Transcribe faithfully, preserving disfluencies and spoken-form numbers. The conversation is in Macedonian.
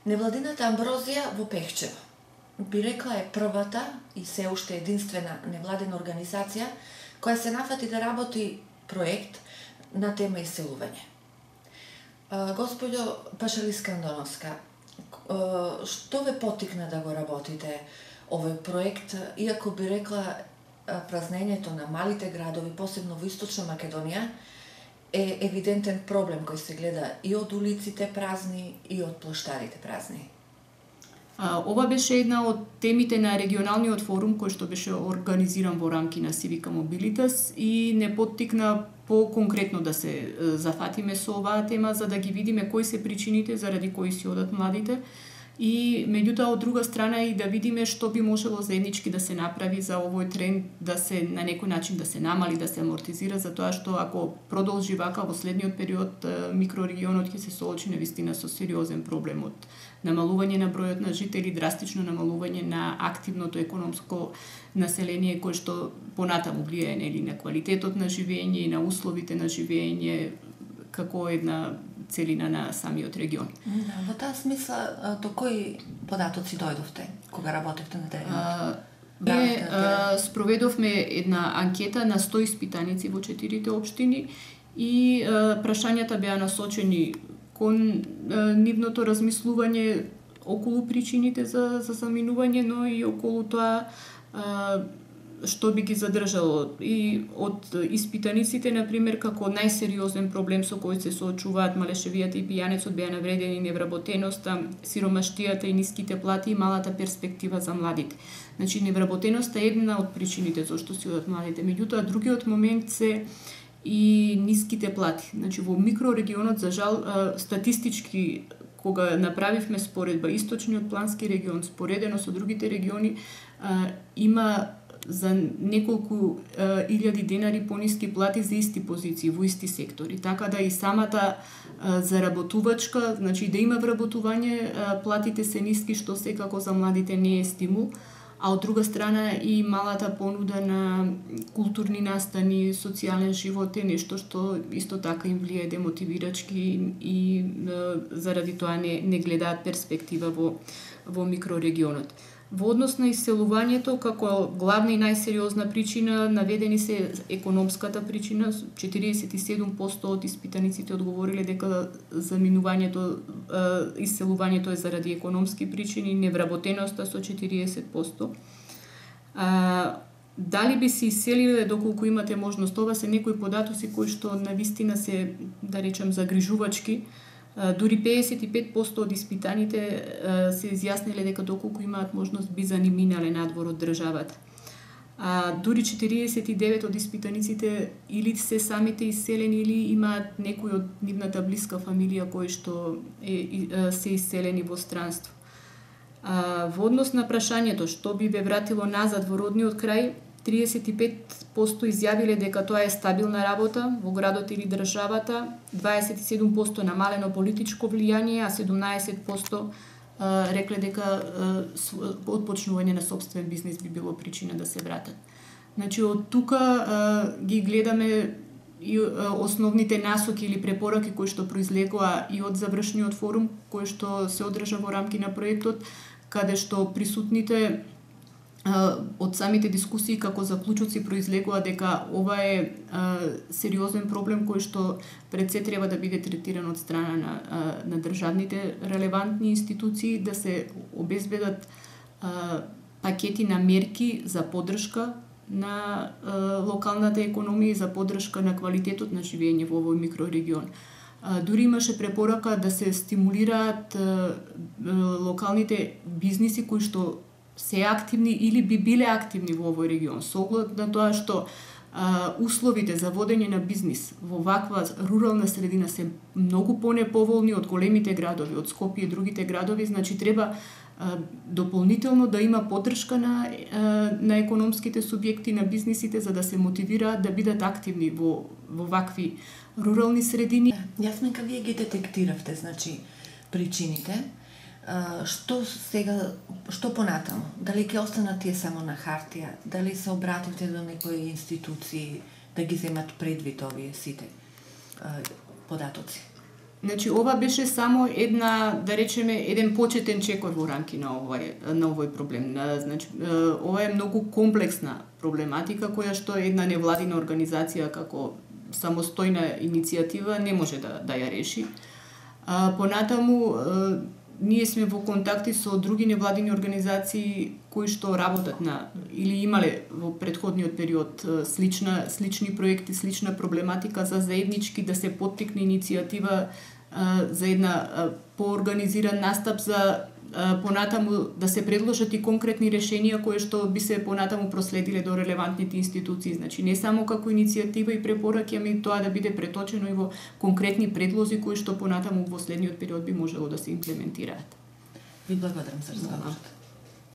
Невладината Амброзија во Пехчево, би рекла е првата и се уште единствена невладина организација која се нафати да работи проект на тема иселување. Господјо Пашалиска Андоновска, што ве потикна да го работите овој проект, иако би рекла празнењето на малите градови, посебно во Источна Македонија, е евидентен проблем кој се гледа и од улиците празни и од плоштадите празни? А, ова беше една од темите на регионалниот форум кој што беше организиран во рамки на Civica Mobilitas и не поттикна по-конкретно да се зафатиме со оваа тема за да ги видиме кои се причините заради кои си одат младите и меѓутоа од друга страна и да видиме што би можело заеднички да се направи за овој тренд да се на некој начин да се намали, да се амортизира, затоа што ако продолжи вака во следниот период микрорегионот ќе се соочи навистина со сериозен проблем од намалување на бројот на жители, драстично намалување на активното економско население кое што понатаму влијае нели на квалитетот на живење и на условите на живење како една целина на самиот регион. Да, во таа смисла, до кои податоци дојдовте кога работевте на терен? Ние спроведовме една анкета на сто испитаници во четирите општини и а, прашањата беа насочени кон а, нивното размислување околу причините за, за заминување, но и околу тоа а, што би ги задржало. И од испитаниците, например, како најсериозен проблем со кој се соочуваат малешевијата и пијанецот беа навредени невработеноста, сиромаштијата и ниските плати и малата перспектива за младите. Значи, невработеноста е една од причините зашто си одат младите. Меѓутоа, другиот момент се и ниските плати. Значи, во микрорегионот, за жал, статистички, кога направивме споредба Источниот плански регион, споредено со другите региони, има за неколку е, илјади денари пониски плати за исти позиции во исти сектори. Така да и самата е, заработувачка, значи да има вработување, е, платите се ниски, што секако за младите не е стимул, а од друга страна и малата понуда на културни настани, социјален живот е нешто што исто така им влијае демотивирачки и е, заради тоа не, не гледаат перспектива во, во микрорегионот. Во однос на иселувањето, како главна и најсериозна причина, наведени се економската причина, четириесет и седум проценти од испитаниците одговориле дека заминувањето, иселувањето е заради економски причини, невработеноста со четириесет проценти. А, дали би се иселиле доколку имате можност? Ова се некои податоци кои што навистина се, да речем, загрижувачки. Дури пеесет и пет проценти од испитаните се изјасниле дека доколку имаат можност би заниминале надвор од државата. А дури четириесет и девет од испитаниците или се самите иселени или имаат некој од нивната блиска фамилија кои што е, се иселени во странство. А, во однос на прашањето што би ве вратило назад во родниот крај, триесет и пет проценти изјавиле дека тоа е стабилна работа во градот или државата, дваесет и седум проценти намалено политичко влијание, а седумнаесет проценти рекле дека отпочнување на сопствен бизнис би било причина да се вратат. Значи, од тука ги гледаме и основните насоки или препораки кои што произлегоа и од завршниот форум, кој што се одржа во рамки на проектот, каде што присутните од самите дискусии како заклучоци произлегува дека ова е а, сериозен проблем кој што пред се треба да биде третиран од страна на, а, на државните релевантни институции, да се обезбедат а, пакети на мерки за поддршка на а, локалната економија и за поддршка на квалитетот на живење во овој микрорегион. А, дури имаше препорака да се стимулираат а, а, локалните бизниси кои што се активни или би биле активни во овој регион, со оглед на тоа што а, условите за водење на бизнис во ваква рурална средина се многу понеповолни од големите градови, од Скопје и другите градови, значи треба а, дополнително да има поддршка на, а, на економските субјекти, на бизнисите, за да се мотивираат да бидат активни во, во вакви рурални средини. Јасминка, вие ги детектиравте, значи, причините. Uh, што сега, што понатаму? Дали ќе останат тие само на хартија? Дали се обративте до некои институции да ги земат предвид овие сите uh, податоци? Значи, ова беше само една, да речеме, еден почетен чекор во рамки на овој, на овој проблем. Значи, ова е многу комплексна проблематика, која што една невладина организација како самостојна иницијатива не може да, да ја реши. А, понатаму, ние сме во контакти со други невладини организации кои што работат на или имале во претходниот период слична слични проекти, слична проблематика за заеднички да се поттикне иницијатива а, за една а, поорганизиран настап за а, понатаму да се предложат и конкретни решенија кои што би се понатаму проследиле до релевантните институции. Значи не само како иницијатива и препораки, ами тоа да биде преточено и во конкретни предлози кои што понатаму во следниот период би можело да се имплементираат. Ви благодарам за разговорот.